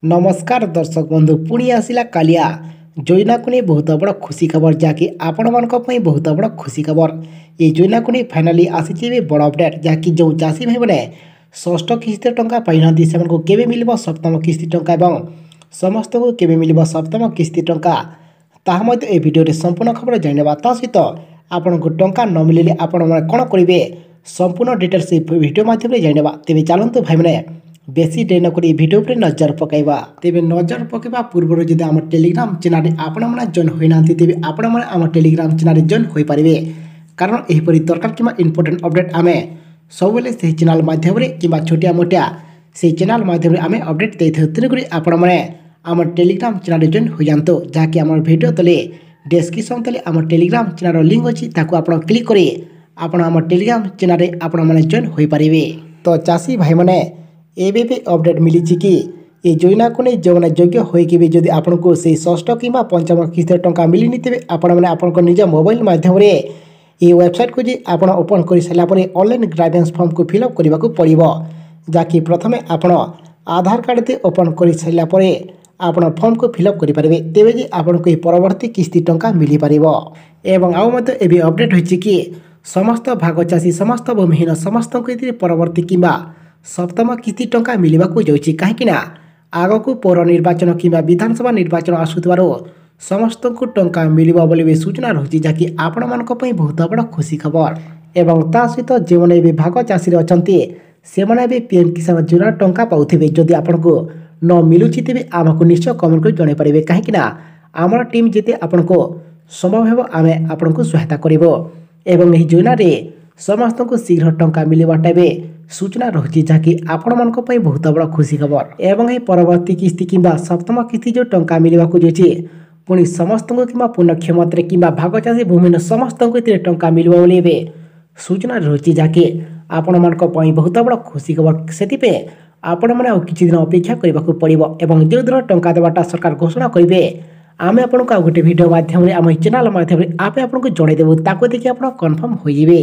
ନମସ୍କାର ଦର୍ଶକ ବନ୍ଧୁ, ପୁଣି ଆସିଲା କାଳିଆ ଯୋଜନାକୁ ନେଇ ବହୁତ ବଡ଼ ଖୁସି ଖବର, ଯାହାକି ଆପଣମାନଙ୍କ ପାଇଁ ବହୁତ ବଡ଼ ଖୁସି ଖବର। ଏହି ଯୋଜନାକୁ ନେଇ ଫାଇନାଲି ଆସିଛି ଏବେ ବଡ଼ ଅପଡ଼େଟ୍, ଯାହାକି ଯେଉଁ ଚାଷୀ ଭାଇମାନେ ଷଷ୍ଠ କିସ୍ତିର ଟଙ୍କା ପାଇନାହାନ୍ତି, ସେମାନଙ୍କୁ କେବେ ମିଳିବ ସପ୍ତମ କିସ୍ତି ଟଙ୍କା ଏବଂ ସମସ୍ତଙ୍କୁ କେବେ ମିଳିବ ସପ୍ତମ କିସ୍ତି ଟଙ୍କା, ତାହା ମଧ୍ୟ ଏ ଭିଡ଼ିଓରେ ସମ୍ପୂର୍ଣ୍ଣ ଖବର ଜାଣିନେବା। ତା ସହିତ ଆପଣଙ୍କୁ ଟଙ୍କା ନ ମିଳିଲେ ଆପଣମାନେ କ'ଣ କରିବେ, ସମ୍ପୂର୍ଣ୍ଣ ଡିଟେଲ୍ସ ଏହି ଭିଡ଼ିଓ ମାଧ୍ୟମରେ ଜାଣିନେବା। ତେବେ ଚାଲନ୍ତୁ ଭାଇମାନେ, ବେଶୀ ଡେରି ନକରି ଏହି ଭିଡ଼ିଓ ଉପରେ ନଜର ପକାଇବା। ତେବେ ନଜର ପକାଇବା ପୂର୍ବରୁ ଯଦି ଆମ ଟେଲିଗ୍ରାମ ଚ୍ୟାନେଲରେ ଆପଣମାନେ ଜଏନ୍ ହୋଇନାହାନ୍ତି, ତେବେ ଆପଣମାନେ ଆମ ଟେଲିଗ୍ରାମ ଚ୍ୟାନେଲରେ ଜଏନ୍ ହୋଇପାରିବେ, କାରଣ ଏହିପରି ଦରକାର କିମ୍ବା ଇମ୍ପୋର୍ଟାଣ୍ଟ ଅପଡ଼େଟ୍ ଆମେ ସବୁବେଳେ ସେହି ଚ୍ୟାନେଲ ମାଧ୍ୟମରେ କିମ୍ବା ଛୋଟିଆ ମୋଟିଆ ସେହି ଚ୍ୟାନେଲ ମାଧ୍ୟମରେ ଆମେ ଅପଡ଼େଟ୍ ଦେଇଥାଉ। ତେଣୁକରି ଆପଣମାନେ ଆମ ଟେଲିଗ୍ରାମ ଚ୍ୟାନେଲରେ ଜଏନ୍ ହୋଇଯାଆନ୍ତୁ, ଯାହାକି ଆମର ଭିଡ଼ିଓ ତଳେ ଡେସ୍କ୍ରିପସନ୍ ତଳେ ଆମ ଟେଲିଗ୍ରାମ ଚ୍ୟାନେଲର ଲିଙ୍କ୍ ଅଛି, ତାକୁ ଆପଣ କ୍ଲିକ୍ କରି ଆପଣ ଆମ ଟେଲିଗ୍ରାମ ଚ୍ୟାନେଲରେ ଆପଣମାନେ ଜଏନ୍ ହୋଇପାରିବେ। ତ ଚାଷୀ ଭାଇମାନେ, ଏବେ ବି ଅପଡ଼େଟ୍ ମିଳିଛି କି ଏ ଯୋଜନାକୁ ନେଇ ଯେଉଁମାନେ ଯୋଗ୍ୟ ହୋଇକି ବି ଯଦି ଆପଣଙ୍କୁ ସେଇ ଷଷ୍ଠ କିମ୍ବା ପଞ୍ଚମ କିସ୍ତିର ଟଙ୍କା ମିଳିନି, ତେବେ ଆପଣମାନେ ଆପଣଙ୍କ ନିଜ ମୋବାଇଲ ମାଧ୍ୟମରେ ଏହି ୱେବସାଇଟ୍କୁ ଯାଇ ଆପଣ ଓପନ୍ କରିସାରିଲା ପରେ ଅନଲାଇନ୍ ଗ୍ରାଇଭେନ୍ସ ଫର୍ମକୁ ଫିଲ୍ଅପ୍ କରିବାକୁ ପଡ଼ିବ, ଯାହାକି ପ୍ରଥମେ ଆପଣ ଆଧାର କାର୍ଡ଼ ଦେଇ ଓପନ୍ କରିସାରିଲା ପରେ ଆପଣ ଫର୍ମକୁ ଫିଲ୍ଅପ୍ କରିପାରିବେ, ତେବେ ଯେ ଆପଣଙ୍କୁ ଏହି ପରବର୍ତ୍ତୀ କିସ୍ତି ଟଙ୍କା ମିଳିପାରିବ। ଏବଂ ଆଉ ମଧ୍ୟ ଏବେ ଅପଡ଼େଟ୍ ହୋଇଛି କି ସମସ୍ତ ଭାଗ ଚାଷୀ, ସମସ୍ତ ଭୂମିହୀନ, ସମସ୍ତଙ୍କୁ ଏଥିରେ ପରବର୍ତ୍ତୀ କିମ୍ବା ସପ୍ତମ କିସ୍ତି ଟଙ୍କା ମିଳିବାକୁ ଯାଉଛି, କାହିଁକିନା ଆଗକୁ ପୌର ନିର୍ବାଚନ କିମ୍ବା ବିଧାନସଭା ନିର୍ବାଚନ ଆସୁଥିବାରୁ ସମସ୍ତଙ୍କୁ ଟଙ୍କା ମିଳିବ ବୋଲି ବି ସୂଚନା ରହିଛି, ଯାହାକି ଆପଣମାନଙ୍କ ପାଇଁ ବହୁତ ବଡ଼ ଖୁସି ଖବର। ଏବଂ ତା ସହିତ ଯେଉଁମାନେ ଏବେ ଭାଗ ଚାଷୀରେ ଅଛନ୍ତି, ସେମାନେ ଏବେ ପି ଏମ୍ କିଷାନ ଯୋଜନା ଟଙ୍କା ପାଉଥିବେ। ଯଦି ଆପଣଙ୍କୁ ନ ମିଳୁଛି, ତେବେ ଆମକୁ ନିଶ୍ଚୟ କମେଣ୍ଟ କରି ଜଣାଇ ପାରିବେ, କାହିଁକିନା ଆମର ଟିମ୍ ଯେତେ ଆପଣଙ୍କୁ ସମ୍ଭବ ହେବ ଆମେ ଆପଣଙ୍କୁ ସହାୟତା କରିବ। ଏବଂ ଏହି ଯୋଜନାରେ ସମସ୍ତଙ୍କୁ ଶୀଘ୍ର ଟଙ୍କା ମିଳିବାଟା ଏବେ ସୂଚନା ରହୁଛି, ଯାହାକି ଆପଣମାନଙ୍କ ପାଇଁ ବହୁତ ବଡ଼ ଖୁସି ଖବର। ଏବଂ ଏହି ପରବର୍ତ୍ତୀ କିସ୍ତି କିମ୍ବା ସପ୍ତମ କିସ୍ତି ଯେଉଁ ଟଙ୍କା ମିଳିବାକୁ ଯାଉଛି, ପୁଣି ସମସ୍ତଙ୍କୁ କିମ୍ବା ପୂର୍ଣ୍ଣ କ୍ଷମତାରେ କିମ୍ବା ଭାଗ ଚାଷୀ, ଭୂମିହୀନ ସମସ୍ତଙ୍କୁ ଏଥିରେ ଟଙ୍କା ମିଳିବ ବୋଲି ଏବେ ସୂଚନା ରହୁଛି, ଯାହାକି ଆପଣମାନଙ୍କ ପାଇଁ ବହୁତ ବଡ଼ ଖୁସି ଖବର। ସେଥିପାଇଁ ଆପଣମାନେ ଆଉ କିଛି ଦିନ ଅପେକ୍ଷା କରିବାକୁ ପଡ଼ିବ ଏବଂ ଯେଉଁଦିନ ଟଙ୍କା ଦେବାଟା ସରକାର ଘୋଷଣା କରିବେ, ଆମେ ଆପଣଙ୍କୁ ଆଉ ଗୋଟେ ଭିଡ଼ିଓ ମାଧ୍ୟମରେ ଆମ ଚ୍ୟାନେଲ୍ ମାଧ୍ୟମରେ ଆମେ ଆପଣଙ୍କୁ ଜଣାଇଦେବୁ, ତାକୁ ଦେଖି ଆପଣ କନଫର୍ମ ହୋଇଯିବେ।